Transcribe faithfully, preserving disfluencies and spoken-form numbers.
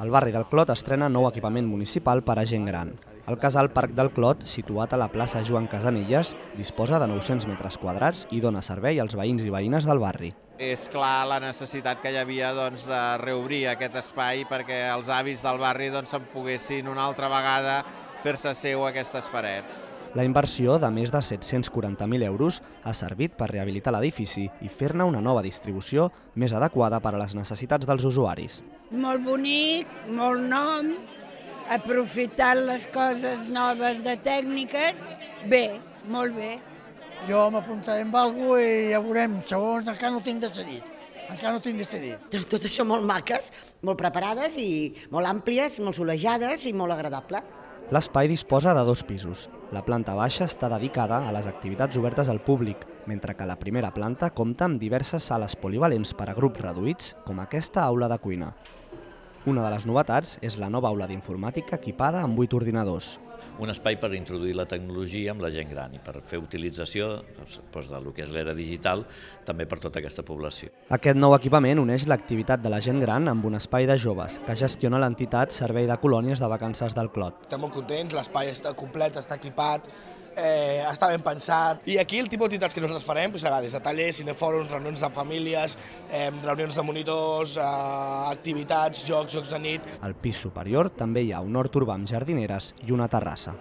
El barri del Clot estrena nou equipament municipal per a gent gran. El casal Parc del Clot, situat a la plaça Joan Casanelles, disposa de nou-cents metres quadrats i dona servei als veïns i veïnes del barri. És clar la necessitat que hi havia doncs, de reobrir aquest espai perquè els avis del barri doncs, se'n poguessin una altra vegada fer-se seu aquestes parets. La inversió de més de set-cents quaranta mil euros ha servit per rehabilitar l'edifici i fer-ne una nova distribució més adequada per a les necessitats dels usuaris. Molt bonic, molt nom, aprofitant les coses noves de tècniques, bé, molt bé. Jo m'apuntaré amb alguna cosa i ja veurem, segons encara no tinc decidit. Encara no tinc decidit. Tot això molt maques, molt preparades i molt àmplies, molt solejades i molt agradable. L'espai disposa de dos pisos. La planta baixa està dedicada a les activitats obertes al públic, mentre que la primera planta compta amb diverses sales polivalents per a grups reduïts, com aquesta aula de cuina. Una de les novetats és la nova aula d'informàtica equipada amb vuit ordinadors. Un espai per introduir la tecnologia amb la gent gran i per fer utilització doncs, del que és l'era digital també per tota aquesta població. Aquest nou equipament uneix l'activitat de la gent gran amb un espai de joves que gestiona l'entitat Servei de Colònies de Vacances del Clot. Estem molt contents, l'espai està complet, està equipat, eh, està ben pensat. I aquí el tipus d'activitats que nosaltres farem doncs, serà des de tallers, cinefòrums, reunions de famílies, eh, reunions de monitors, eh, activitats, jocs, jocs de nit. Al pis superior també hi ha un hort urbà amb jardineres i una terrassa.